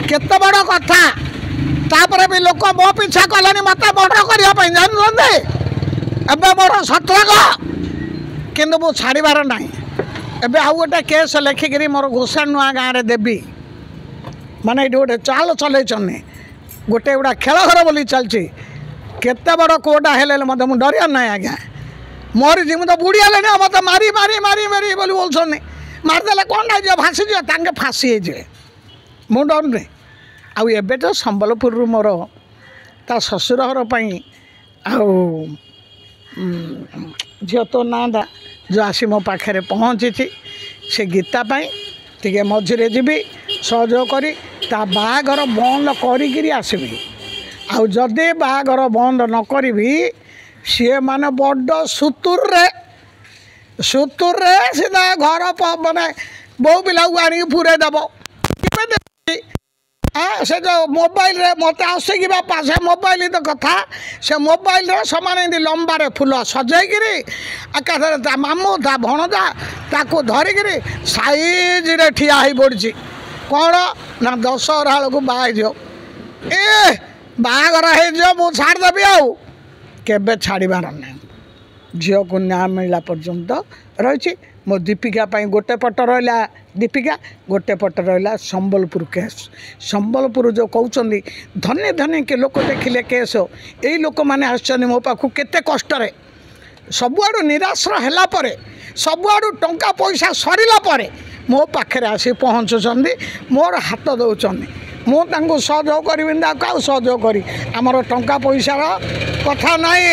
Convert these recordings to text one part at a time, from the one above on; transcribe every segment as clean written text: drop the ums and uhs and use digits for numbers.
କେତେ ବଡ଼ କଥା। ତାପରେ ବି ଲୋକ ମୋ ପିଛା କଲେଣି ମୋତେ ମର୍ଡର କରିବା ପାଇଁ, ଜାଣିଛନ୍ତି? ଏବେ ମୋର ସତର୍କ, କିନ୍ତୁ ମୁଁ ଛାଡ଼ିବାର ନାହିଁ। ଏବେ ଆଉ ଗୋଟେ କେସ୍ ଲେଖିକିରି ମୋର ଗୋସାଣ ନୂଆ ଗାଁରେ ଦେବି। ମାନେ ଏଇଠି ଗୋଟେ ଚାଲ ଚଲେଇଛନ୍ତି, ଗୋଟେ ଗୁଡ଼ା ଖେଳ ଘର ବୋଲି ଚାଲିଛି। କେତେ ବଡ଼ କୋର୍ଟ ହେଲେ ମୋତେ ମୁଁ ଡରିବାର ନାହିଁ ଆଜ୍ଞା। ମରିଛି, ମୁଁ ତ ବୁଢ଼ୀ ହେଲେଣି, ଆଉ ମୋତେ ମାରି ମାରି ମାରି ମାରି ବୋଲି ବୋଲୁଛନ୍ତି। ମାରିଦେଲେ କ'ଣ ହେଇଯିବ? ଭାସିଯିବ, ତାଙ୍କେ ଫାଶୀ ହେଇଯିବେ। ମୁଁ ଡରୁନି। ଆଉ ଏବେ ତ ସମ୍ବଲପୁରରୁ ମୋର ତା ଶ୍ୱଶୁର ଘର ପାଇଁ ଆଉ ଝିଅ ତୋ ନାଁଟା ଯେଉଁ ଆସି ମୋ ପାଖରେ ପହଞ୍ଚିଛି, ସେ ଗୀତା ପାଇଁ ଟିକେ ମଝିରେ ଯିବି ସହଯୋଗ କରି, ତା ବାହାଘର ବନ୍ଦ କରିକିରି ଆସିବି। ଆଉ ଯଦି ବାହାଘର ବନ୍ଦ ନ କରିବି, ସିଏ ମାନେ ବଡ଼ ସୁତୁରରେ ସୁତୁରରେ ସିଧା ଘର ମାନେ ବୋଉ ପିଲାକୁ ଆଣିକି ପୁରେଇ ଦେବ। ସେ ଯେଉଁ ମୋବାଇଲରେ ମୋତେ ଆସିକି ବାପା, ସେ ମୋବାଇଲ ତ କଥା, ସେ ମୋବାଇଲରେ ସେମାନେ ଏମିତି ଲମ୍ବାରେ ଫୁଲ ସଜେଇକିରି ଏକାଥରେ ତା ମାମୁଁ ତା ଭଣଜା ତାକୁ ଧରିକିରି ସାଇଜରେ ଠିଆ ହେଇ ପଡ଼ିଛି। କ'ଣ ନା ଦଶହରା ବେଳକୁ ବାହା ହେଇଯିବ, ଏ ବାହାଘର ହେଇଯିବ, ମୁଁ ଛାଡ଼ିଦେବି। ଆଉ କେବେ ଛାଡ଼ିବାର ନାହିଁ। ଝିଅକୁ ନ୍ୟାୟ ମିଳିଲା ପର୍ଯ୍ୟନ୍ତ ରହିଛି। ମୋ ଦୀପିକା ପାଇଁ ଗୋଟେ ପଟ ରହିଲା ଦୀପିକା, ଗୋଟେ ପଟ ରହିଲା ସମ୍ବଲପୁର କେସ୍। ସମ୍ବଲପୁର ଯେଉଁ କହୁଛନ୍ତି ଧନୀ ଧନୀ କି ଲୋକ ଦେଖିଲେ କେସ୍, ଏଇ ଲୋକମାନେ ଆସିଛନ୍ତି ମୋ ପାଖକୁ କେତେ କଷ୍ଟରେ, ସବୁଆଡ଼ୁ ନିରାଶ୍ର ହେଲା ପରେ, ସବୁଆଡ଼ୁ ଟଙ୍କା ପଇସା ସରିଲା ପରେ ମୋ ପାଖରେ ଆସି ପହଞ୍ଚୁଛନ୍ତି, ମୋର ହାତ ଦେଉଛନ୍ତି। ମୁଁ ତାଙ୍କୁ ସହଯୋଗ କରିବିନି ତାକୁ ଆଉ ସହଯୋଗ କରି? ଆମର ଟଙ୍କା ପଇସାର କଥା ନାହିଁ,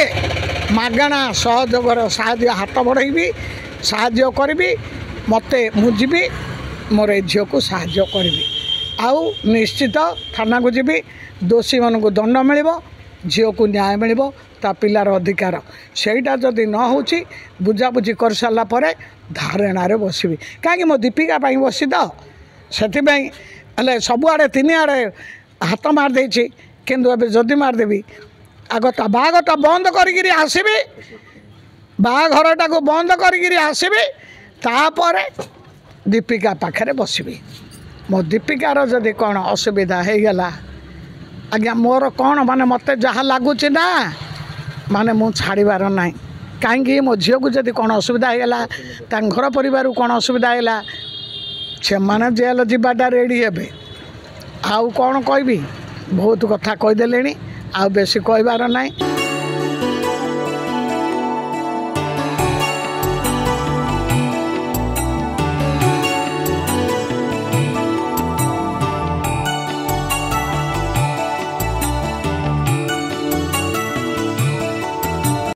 ମାଗଣା ସହଯୋଗର ସାହାଯ୍ୟ ହାତ ବଢ଼େଇବି, ସାହାଯ୍ୟ କରିବି। ମୋତେ ମୁଁ ଯିବି, ମୋର ଏ ଝିଅକୁ ସାହାଯ୍ୟ କରିବି। ଆଉ ନିଶ୍ଚିତ ଥାନାକୁ ଯିବି, ଦୋଷୀମାନଙ୍କୁ ଦଣ୍ଡ ମିଳିବ, ଝିଅକୁ ନ୍ୟାୟ ମିଳିବ, ତା ପିଲାର ଅଧିକାର। ସେଇଟା ଯଦି ନ ହେଉଛି, ବୁଝାବୁଝି କରିସାରିଲା ପରେ ଧାରଣାରେ ବସିବି। କାହିଁକି ମୋ ଦୀପିକା ପାଇଁ ବସି ତ ସେଥିପାଇଁ। ହେଲେ ସବୁଆଡ଼େ ତିନିଆଡ଼େ ହାତ ମାରିଦେଇଛି, କିନ୍ତୁ ଏବେ ଯଦି ମାରିଦେବି, ଆଗ ତା ବାହାଘରଟା ବନ୍ଦ କରିକିରି ଆସିବି, ବାହାଘରଟାକୁ ବନ୍ଦ କରିକିରି ଆସିବି, ତାପରେ ଦୀପିକା ପାଖରେ ବସିବି। ମୋ ଦୀପିକାର ଯଦି କ'ଣ ଅସୁବିଧା ହେଇଗଲା ଆଜ୍ଞା, ମୋର କ'ଣ ମାନେ ମୋତେ ଯାହା ଲାଗୁଛି ନା, ମାନେ ମୁଁ ଛାଡ଼ିବାର ନାହିଁ। କାହିଁକି ମୋ ଝିଅକୁ ଯଦି କ'ଣ ଅସୁବିଧା ହେଇଗଲା, ତାଙ୍କ ଘର ପରିବାରକୁ କ'ଣ ଅସୁବିଧା ହେଇଗଲା, ସେମାନେ ଜେଲ ଯିବାଟା ରେଡ଼ି ହେବେ। ଆଉ କ'ଣ କହିବି, ବହୁତ କଥା କହିଦେଲେଣି, ଆଉ ବେଶୀ କହିବାର ନାହିଁ।